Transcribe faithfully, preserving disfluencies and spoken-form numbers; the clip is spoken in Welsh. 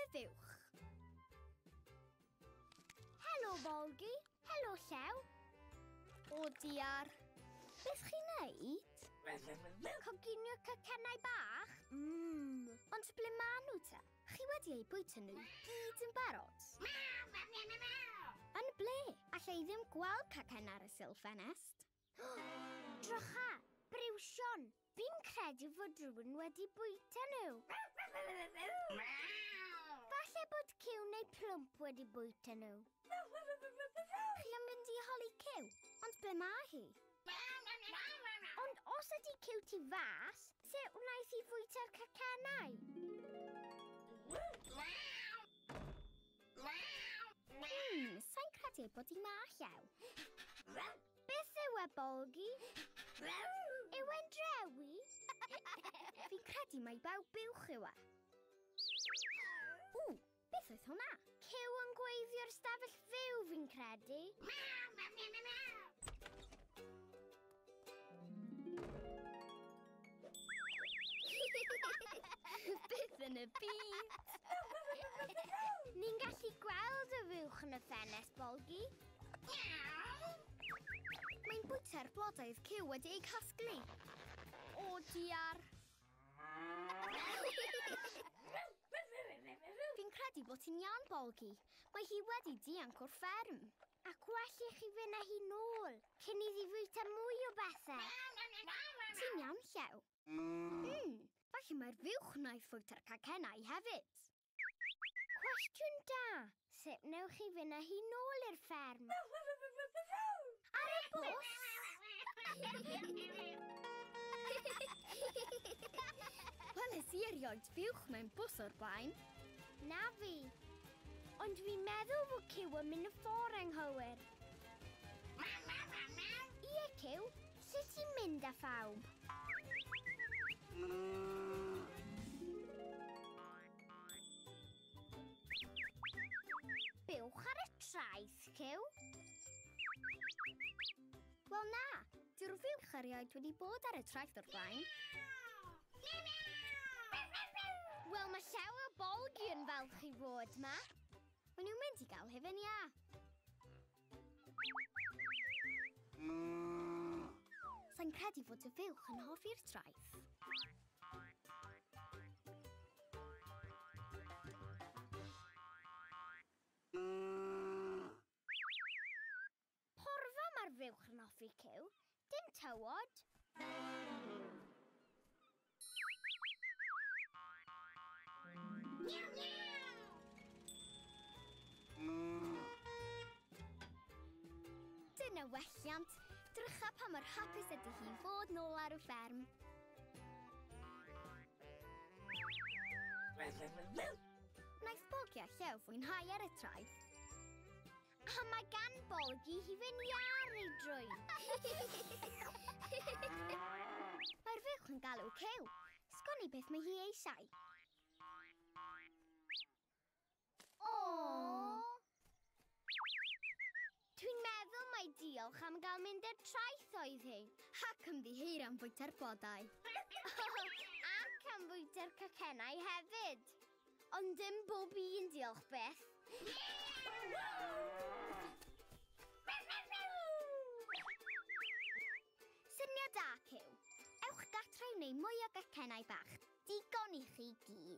y fuwch. Helo, Bolgi. Helo, Llew. O, diar. Beth chi'n neud? Coginio cacennau bach? Mmm. Ond ble maen nhw te? Chi wedi eu bwyta nhw gyd yn barod? Yn ble? Alla i ddim gweld cacen ar y sil ffenest. Drycha, briwsion. Fi'n credu fod rhywun wedi bwyta nhw. Falle bod Cyw neu Plwmp wedi bwyta nhw. Chi am mynd i holi Cyw, ond ble mae hi? Ond os ydy Cyw tu fas, sut wnaeth hi fwyta'r cacennau? Hmm, sa'n credu bod hi ma, Llew. Beth yw e, Bolgi? Yw e'n drewi? Fi'n credu mai baw buwch yw e. Ww, beth oedd hwnna? Cyw yn gweithio'r stafell fyw, fi'n credu. Beth yn y byd? Ni'n gallu gweld y fuwch yn y ffenest, Bolgi. Mae'n bwyta'r blodau oedd Cyw wedi eu casglu. O, diar. Fi'n credu bod ti'n iawn, Bolgi. Mae hi wedi dianc o'r fferm. Ac well i chi fynd â hi nôl, cyn iddi fwyta mwy o bethau. Ti'n iawn, Llew? Mm, falle mae'r fuwch wnaeth fwyta'r cacennau hefyd. Cwestiwn da. Sut wnewch chi fynd â hi nôl i'r fferm? Ar y bws? Weles i erioed fuwch mewn bws o'r blaen. Na fi. Ond fi'n meddwl fod Cyw yn mynd y ffordd anghywir. Ie, Cyw, sut ti'n mynd â phawb? Buwch ar y traeth, Cyw. Wel na, dyw'r fuwch erioed wedi bod ar y traeth o'r blaen. Wel, mae Llew a Bolgi yn falch i fod ma. Maen nhw'n mynd i gael hufen iâ. Sa'n credu fod y fuwch yn hoffi'r traeth. Porfa mae'r fuwch yn hoffi, Cyw. Dim tywod. Dyna welliant. Drycha pa mor hapus ydy hi fod nôl ar y fferm. Wnaeth Bolgi a Llew fwynhau ar y traeth. A mae gan Bolgi hufen iâ ar ei drwyn. Mae'r fuwch yn galw Cyw. Sgwn i beth mae hi eisiau. O! Dwi'n meddwl mai diolch am gael mynd i'r traeth oedd hi. Ac ymddiheuro am fwyta'r blodau. Ac am fwyta'r cacennau hefyd. Ond dim bob un diolch byth. Syniad da, Cyw. Ewch gartre i wneud mwy o gacennau bach. Digon i chi gyd.